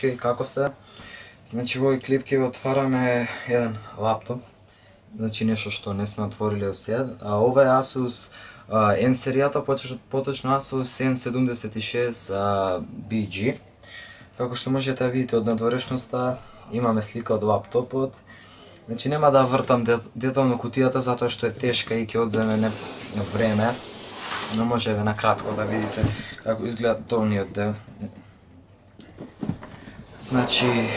Океј, како сте? Значи, во овој клип ќе отвараме еден лаптоп. Значи, нешто што не сме отвориле до сега. Ова е Asus N серијата, поточно Asus N76 BG. Како што можете да видите од надворешноста, имаме слика од лаптопот. Значи, нема да вртам детално кутијата, затоа што е тешка и ќе одземе време. Но може на кратко да видите како изгледа долниот дел. Значи,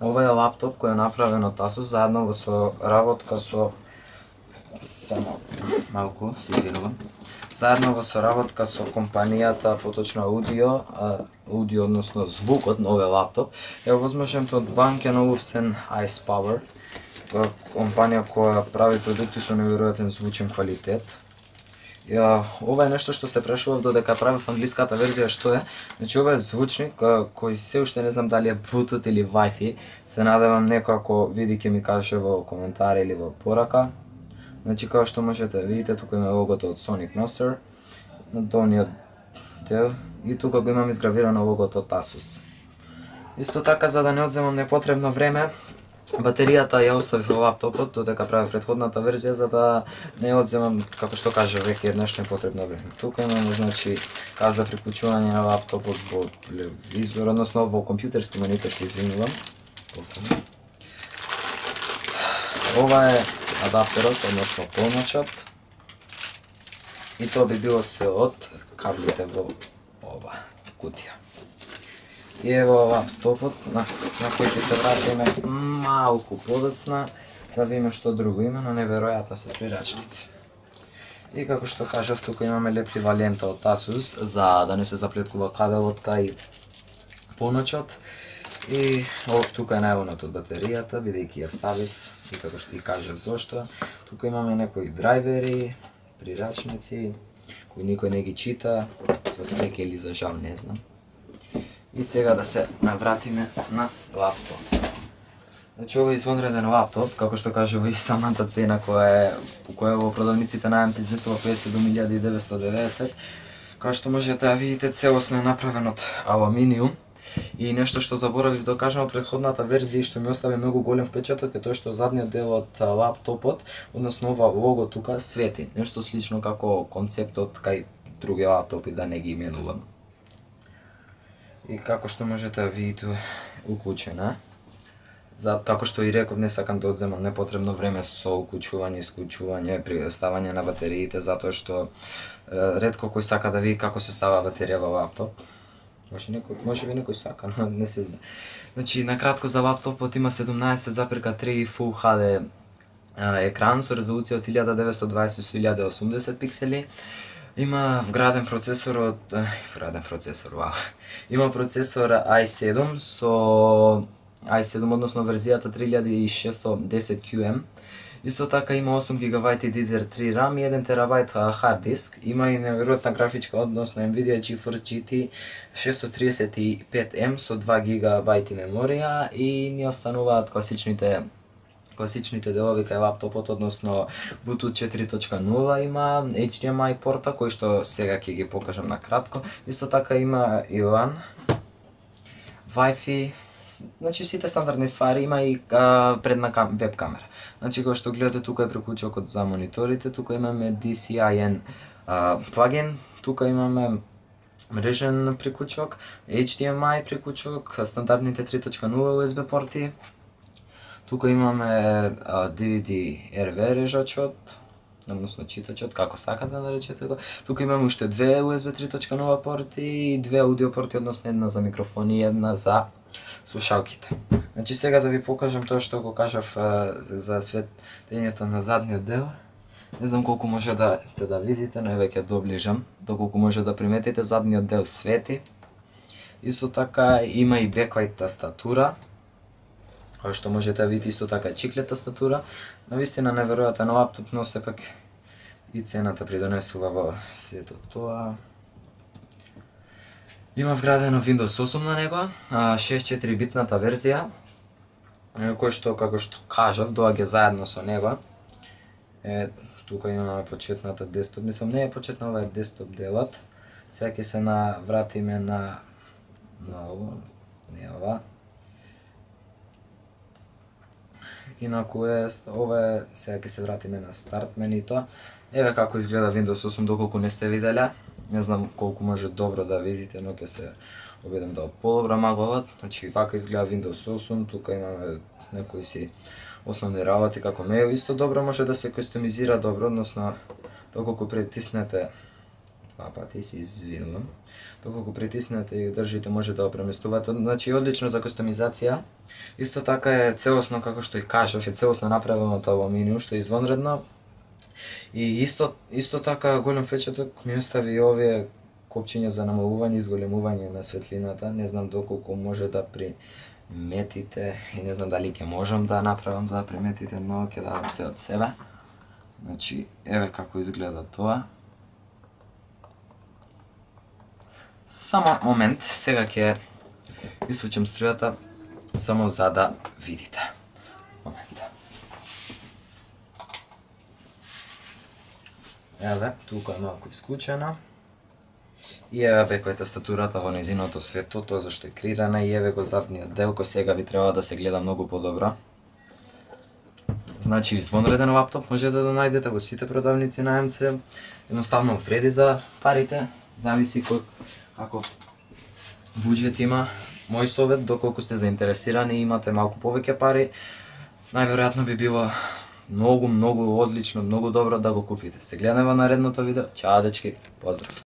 ова е лаптоп кој е направен од Asus заедно со работка со само малку се извинувам. Заедно со работка со компанијата, поточно аудио, односно звукот на овој лаптоп е овозможен од Bang & Olufsen Ice Power, компанија која прави продукти со неверојатен звучен квалитет. Ова е нешто што се прашував додека правев англиската верзија што е. Значи, ова е звучник кој се уште не знам дали е Bluetooth или Wi-Fi. Се надевам некој ако види ќе ми каже во коментари или во порака. Значи, како што можете да видите, тука има логото од Sonic Master на долниот дел и тука го имам изгравирано логото од Asus. Исто така, за да не одземам непотребно време, батеријата ја оставив во лаптопот додека правев претходната верзија, за да не одземам, како што кажа, веќе еднаш непотребно време. Тука имаме, значи, каза за приклучување на лаптопот во телевизор, односно во компјутерски монитор, се извинувам. Ова е адаптерот, односно полночот. И тоа би било се од каблите во ова кутија. И ево лаптопот на кој ќе се вратиме малку подоцна, за да видиме што друго има, но неверојатно се прирачници. И како што кажав, тука имаме леплива лента од Asus, за да не се заплеткува кабелот кај поночот. И тука е најавонот од батеријата, бидејќи ја ставив, и како што ти кажав зошто. Тука имаме некои драйвери, прирачници, кои никој не ги чита, за среќа или за жал, не знам. И сега да се навратиме на лаптоп. Значи, ова е извонреден лаптоп, како што кажува и самата цена која во продавниците најам се изнесува 57.990. Како што можете да видите, целосно е направен од алуминиум. И нешто што заборавив да кажам во претходната верзија и што ми остави многу голем впечаток е тоа што задниот дел од лаптопот, односно ова лого тука, свети. Нешто слично како концептот кај други лаптопи, да не ги именувам. И како што можете да видите, уклучена. Како што и реков, не сакам да одземам непотребно време со уклучување, исклучување, ставање на батериите, затоа што ретко кој сака да види како се става батерија во лаптоп. Може би некој сака, но не се знае. Значи, накратко за лаптопот има 17,3 Full HD екран со резолуција од 1920 со 1080 пиксели. Има вграден процесор Има процесор i7 со i7, односно верзијата 3610QM. Исто така има 8 GB DDR3 RAM и 1 TB хард диск. Има и неверојатна графичка, односно Nvidia GeForce GT 635M со 2 GB меморија и ни остануваат класичните делови кај лаптопот, односно Bluetooth 4.0 има, HDMI порта кој што сега ќе ги покажам на кратко. Исто така има и LAN, Wi-Fi, значи сите стандардни ствари, има и предна веб камера. Значи, кој што гледате, тука е приклучокот за мониторите, тука имаме DCI-N плагин, тука имаме мрежен приклучок, HDMI приклучок, стандардните 3.0 USB порти. Тука имаме DVD RV режачот, односно читачот, како сакате да наречете го. Тука имаме уште две USB 3.0 порти и две аудио порти, односно една за микрофони и една за слушалките. Значи, сега да ви покажам тоа што го кажав за светењето на задниот дел. Не знам колку може да видите, но еве ќе доближам, доколку може да приметите, задниот дел свети. Исто така има и backlight тастатура, која што можете да видите, исто така чиклет тастатура. Навистина неверојатен лаптоп, но сепак и цената придонесува во сето тоа. Има вградено Windows 8 на него, 64-битната верзија, кој што, како што кажав, доаѓа заедно со него. Тука имаме почетната десктоп, мислам не е почетна, ова е десктоп делот. Сега ќе се навратиме на не ова. Инаку ова е, сега ќе се вратиме на старт менито. Еве како изгледа Windows 8 доколку не сте виделе. Не знам колку може добро да видите, но ќе се обидам да подобрам аголот. Значи вака изгледа Windows 8, тука имаме некои си основни работи како мејл, исто добро може да се кастомизира добро, односно доколку притиснете два пати, се извинувам. Доколку притиснете и држите може да го преместувате, значи одлично за кастомизација. Исто така е целосно, како што и кажав, е целосно направено тоа меню, што е извонредно. И исто така голем впечаток ми остави и овие копчиња за намалување и зголемување на светлината. Не знам доколку може да приметите и не знам дали ќе можам да направам за да приметите, но ќе дадам се од себе. Значи, еве како изгледа тоа. Само момент, сега ќе исучам струјата само за да видите. Момент. Еве, тука е малку исклучена. И еве беква тастатурата во нејзиното светло, тоа зашто е крирана, и еве го задниот дел кој сега би требало да се гледа многу подобро. Значи извонреден лаптоп може да најдете во сите продавници на МЦ. Едноставно вреди за парите, зависи кој каков буџет има. Мој совет, доколку сте заинтересирани и имате малку повеќе пари, најверојатно би било многу одлично, многу добро да го купите. Се гледаме во наредното видео. Чао дечки, поздрав!